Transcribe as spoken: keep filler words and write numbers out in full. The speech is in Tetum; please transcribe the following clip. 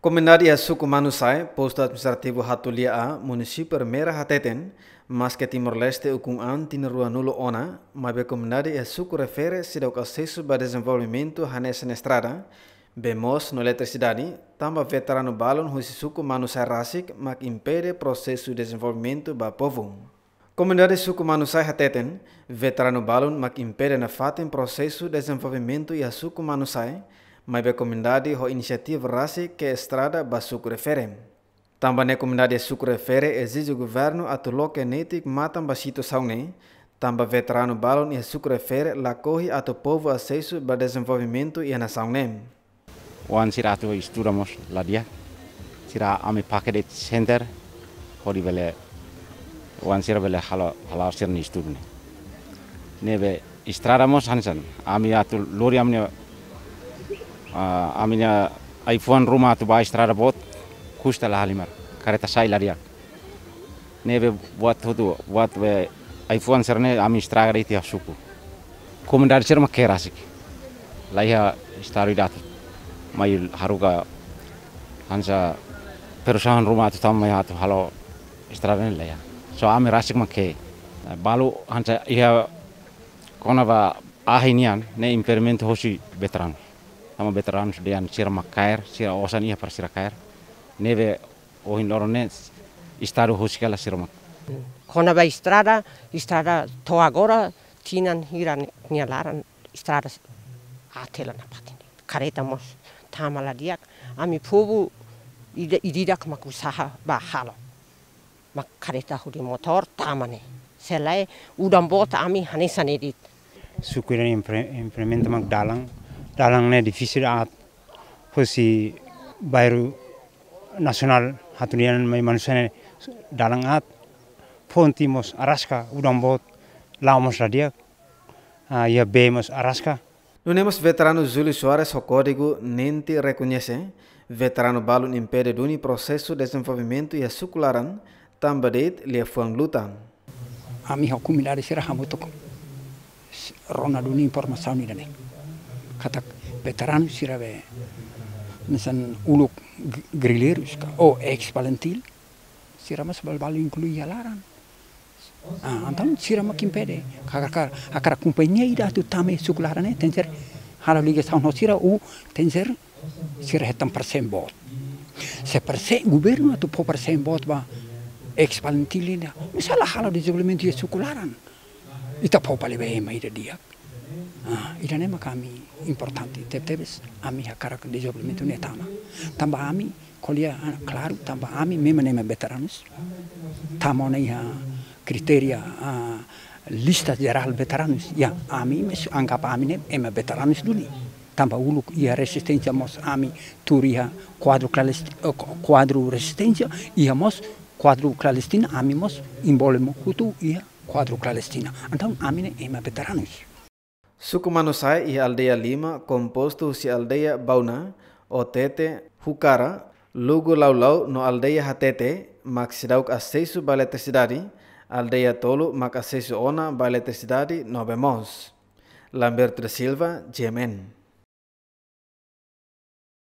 Komunidade iha suku Manusai, postu administrativu Hatulia A, munisípiu Ermera hateten, maske Timor-Leste ukun an tinan ruanulu ona, maibé komunidade iha suku refere seidauk asesu ba dezenvolvimentu hanesan estrada, bee moos no eletrisidade, tanba veteranu balun husi suku Manusai rasik mak impede prosesu dezenvolvimentu ba povu. Komunidade suku Manusai hateten, veteranu balun mak impede nafatin prosesu dezenvolvimentu iha suku Manusai, maibé komunidade ho inisiativa rasik ke'e estrada ba suku refere. Tanba ne'e komunidade suku refere ezije governu atu loke netik matan ba situasaun ne'e, tanba veteranu balun iha suku refere lakohi atu povu asesu ba dezenvolvimentu iha nasaun ne'e. Oan sira atu estuda mós la di'ak. Sira ami pakai de'it center, hodi bele oan sira bele halo, hala'o sira-nia estudu ne'e. Ne'ebé estrada mós hanesan, ami atu lori ami-nia, ah, ami-nia ai-fuan ruma atu ba estrada boot, kusta la halimar, kareta sai la di'ak. Ne'ebé buat hotu, buat be ai-fuan sira-ne'e ami estraga de'it iha suku. Komunidade sira mak ke'e rasik. La iha estadu ida atu mai haruka hanesan perusahaan ruma atu tama mai atu halo estrada ne'e la iha. So ami rasik mak ke'e. Balu hanesan iha kona-ba ahi nian ne'e impedimenta hosi veteranu. Tanba veteranu dehan sira mak kaer, sira osan iha para sira kaer. Ne'ebé ohin loron ne'e estadu husik hela sira mak. Kona-ba estrada, estrada to'o agora tinan hira nia laran estrada aat hela nafatin. Kareta mós tama la di'ak, ami povu ida, ida-idak mak usaha ba halo. Mak kareta hodi motór tama ne'e. Se lae udan boot ami hanesan ne'e de'it. Suku ida-ne'e impre-, implementa mak dalan, dalan ne'e difisil aat, husi bairru nasionál Hatulia nian mai Manusai ne'e dalan aat, ponte mós araska, udan boot, la'o mós la di'ak, ah, iha bee mós araska. Nune'e mós veteranu Júlio Soares ho kódigu Nenti rekoñese, veteranu balun impede duni prosesu dezenvolvimentu iha suku laran, tanba de'it liafuan luta. Ami ho komunidade sira hamutuk rona duni informasaun ida-ne'e. Katak veteranu sira be, misalnya uluk g-, grilleiru ka, ou ex-FALINTIL, sira mós balu-balu inklui iha laran. Ah, entaun sira mak impede. Hakarak, hakarak kompañia ida atu tama iha suku laran ne'e, tenke ser halo ligasaun ho sira, ou tenke ser sira hetan parsen boot. Se parsen, governu atu fó parsen boot ba ex-FALINTIL ida, mesak la halo dezenvolvimentu iha suku laran. Ita fó fali ba ema ida di'ak. Ah, ida-ne'e mak ami importante, tebetebes ami hakarak dezenvolvimentu ne'e tama. Tanba ami ko'alia, ah, klaru, tanba ami memang ema veteranus. Tama ona iha kritéria, ah, lista jerál veteranus. Ya, ami mós anggap ami ne'e ema veteranus duni. Tanba uluk iha rezisténsia mós ami tuur iha kuadru klalest-, eh, ku-, kuadru rezisténsia, iha mós kuadru klandestina, ami mós envolve mós hotu iha kuadru klandestina. Entaun ami ne'e ema veteranus. Suku Manusai iha aldeia lima, kompostu husi aldeia Bauna, Otete, Hukara, Lugu Laulau no aldeia Hatete, mak seidauk asesu ba eletrisidade, aldeia tolu mak asesu ona ba eletrisidade no bee moos. Lamberto da Silva, G M N.